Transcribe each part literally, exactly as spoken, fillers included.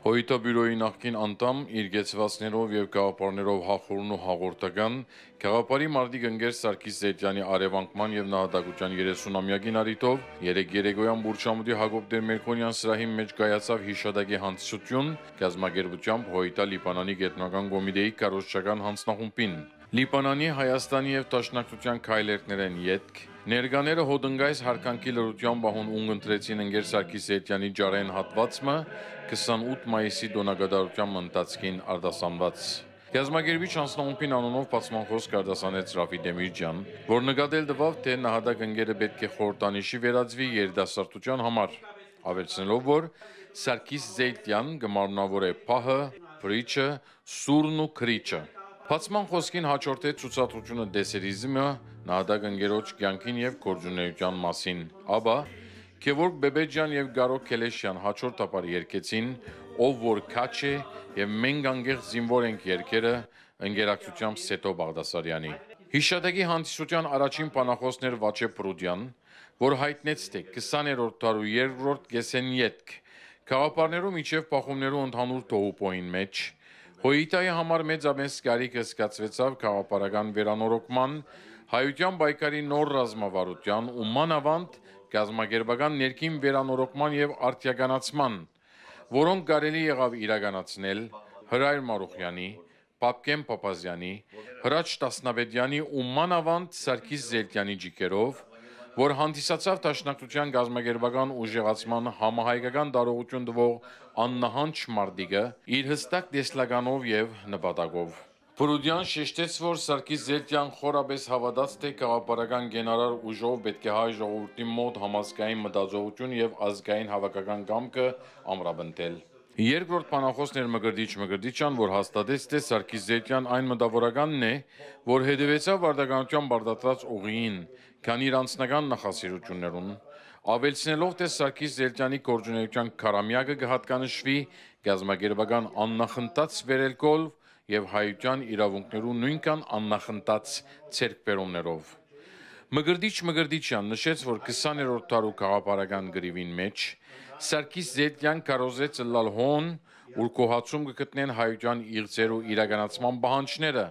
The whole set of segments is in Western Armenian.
Հոյթա բիւրոյի նախկին անդամ, իր կեցուածներով եւ գաղափարներով հախուռն ու հաղորդական, գաղափարի մարտիկ ընկեր Սարգիս Զէյթեանի արեւանկման եւ նահատակութեան երեսունամեակին առիթով երեկ երեկոյան Բուրչամուտի Յակոբ Տեր-Մերգոնեան սրահին մէջ կայացաւ յիշատակի հանդիսութիւն, կազմակերպութեամբ Հոյթա Լիբանանի Կեդրոնական Կոմիտեի քարոզչական յանձնախումբին։ Լիբանանի, Հայաստանի եւ Դաշնակցութեան քայլերգներէն ետք, ներկաները հոտնկայս յարգանքի լռութեան պահուն ունկնդրեցին ընկեր Սարգիս Զէյթեանի ճառեն հատուած մը քսանութ մայիսի տօնակատարութեան ընթացքին արտասանուած։ Կազմակերպիչ յանձնախումբին անունով բացման խօսք արտասանեց Ռաֆի Տեմիրճեան, որ նկատել տուաւ, թէ նահատակ ընկերը պէտք է խորհրդանիշի վերածուի երիտասարդութեան համար, աւելցնելով, որ Սարգիս Զէյթեան կը մարմնաւորէ պահը, փրիչը, սուրն ու քրիչը։ Բացման խօսքին յաջորդեց ցուցադրութիւնը դեսերիզմը, նահատակ ընկերոջ կեանքին եւ գործունեութեան մասին։ Ապա Գեորգ Բեբեջեան եւ Գարո Քելեշեան յաջորդաբար երգեցին «Ով որ քաջ է» եւ «Մենք անկեղծ զինուոր ենք» երգերը, ընկերակցութեամբ Սեթո Բաղդասարեանի։ Յիշատակի հանդիսութեան առաջին բանախօսն էր Վաչե Պրուդեան, որ յայտնեց, թէ քսաներորդ դարու երկրորդ կէսէն ետք, գաղափարներու միջեւ բախումներու ընդհանուր թոհուպոյին մէջ, Հոյթայի համար մեծամեծ կարիքը զգացուեցաւ գաղափարական վերանորոգման, հայութեան պայքարի նոր ռազմավարութեան ու մանաւանդ կազմակերպական ներքին վերանորոգման եւ արդիականացման, որոնք կարելի եղաւ իրականացնել Հրայր Մարուխեանի, Պապկեն Փափազեանի, Հրաչ Տասնապետեանի ու մանաւանդ Սարգիս Զէյթեանի ճիգերով, որ հանդիսացաւ Դաշնակցութեան կազմակերպական ուժեղացման համահայկական տարողութիւն տուող աննահանջ մարտիկը, իր յստակ տեսլականով եւ նպատակով։ Պրուդեան շեշտեց, որ Սարգիս Զէյթեան խորապէս հաւատաց, թէ գաղափարական կենարար ուժով պէտք է հայ ժողովուրդին մօտ համազգային մտածողութիւն եւ ազգային հաւաքական կամքը ամրապնդել։ Երկրորդ բանախօսն էր Մկրտիչ Մկրտիչեան, որ հաստատեց, թէ Սարգիս Զէյթեան այն մտաւորականն է, որ հետեւեցաւ պարտականութեան պարտադրած ուղիին, քան իր անձնական նախասիրութիւններուն, աւելցնելով, թէ Սարգիս Զէյթեանի գործունեութեան քարամեակը կը յատկանշուի կազմակերպական աննախընթաց վերելքով եւ հայութեան իրաւունքներու նոյնքան աննախընթաց ձեռքբերումներով։ Մկրտիչ Մկրտիչեան նշեց, որ քսաներորդ դարու գաղափարական կռիւին մէջ Սարգիս Զէյթեան քարոզեց ըլլալ հոն, ուր գոհացում կը գտնեն հայութեան իղձերու իրականացման պահանջները,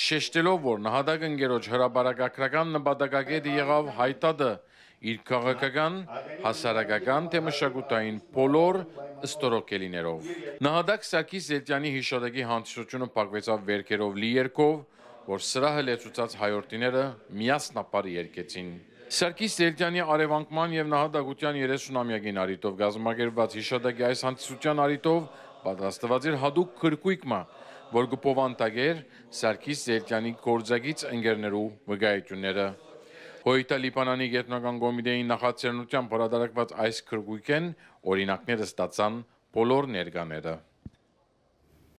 շեշտելով, որ նահատակ ընկերոջ հրապարակագրական նպատակակետը եղաւ հայտատը իր քաղաքական, հասարակական թէ մշակութային բոլոր ստորոգելիներով։ Նահատակ Սարգիս Զէյթեանի յիշատակի հանդիսութիւնը փակուեցաւ վէրքերով լի երգով, որ սրահը լեցուցած հայորդիները միասնաբար երգեցին։ Սարգիս Զէյթեանի արեւանկման եւ նահատակութեան երեսունամեակին առիթով կազմակերպուած յիշատակի այս հանդիսութեան առիթով պատրաստուած էր յատուկ գրքոյկ մը, որ կը բովանդակէր Սարգիս Զէյթեանի գործակից ընկերներու վկայութիւնները։ Հոյթա Լիբանանի Կեդրոնական Կոմիտեին նախաձեռնութեամբ հրատարակուած այս գրքոյկէն օրինակներ ստացան բոլոր ներկաները։